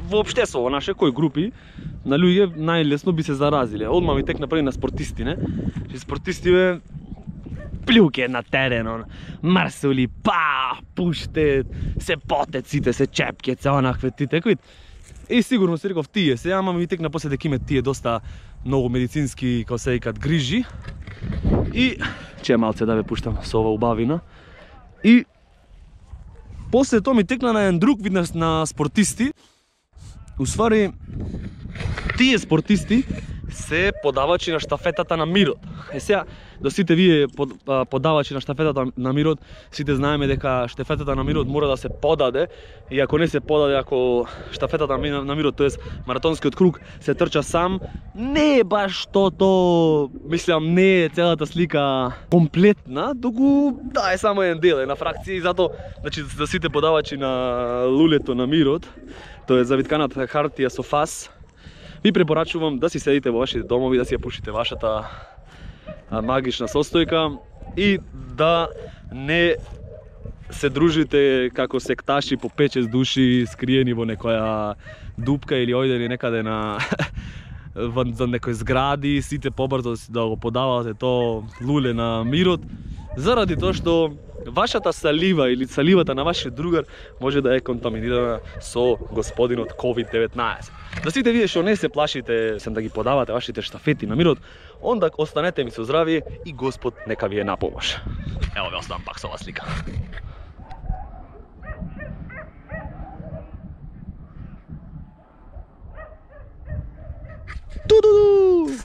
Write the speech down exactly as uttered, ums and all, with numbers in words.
воопште со наши кои групи на луѓе најлесно би се заразиле. Одма ми текна први на спортисти, не? И спортисти бе плюке на терен, марсули, па, пуште, се потет сите, се чепкет, се онакве тите, кои. И сигурно се реков тие се, ама ми текна после дека имат тие доста многу медицински, како се викат, грижи. И че малце да ве пуштам со ова убавина. И после тоа ми текна на еден друг вид на спортисти. Уствари, тие спортисти се подавачи на штафетата на мирот. Е сега, до сите вие подавачи на штафетата на мирот, сите знаеме дека штафетата на мирот мора да се подаде, и ако не се подаде, ако штафетата на мирот, тоест маратонскиот круг, се трча сам, не е баш тото, мислам, не е целата слика комплетна, туку да е само еден дел, една фракција, и затоа, значи, за сите подавачи на лулето на мирот, тоа е завитканата хартија со фас, ви препорачувам да си седите во вашите домови, да си ја пушите вашата магична состојка и да не се дружите како секташи по пет-шест души скриени во некоја дупка или ојдени некаде на во некои згради, сите побрзо да го подавате то луле на мирот, заради тоа што вашата салива или саливата на вашиот другар може да е контаминирана со господинот ковид деветнаесет. За сите вие што не се плашите сем да ги подавате вашите штафети на мирот, онда останете ми со здравие и Господ нека ви е на помош. Ево ве оставам пак со ова слика. Ту-ду-ду!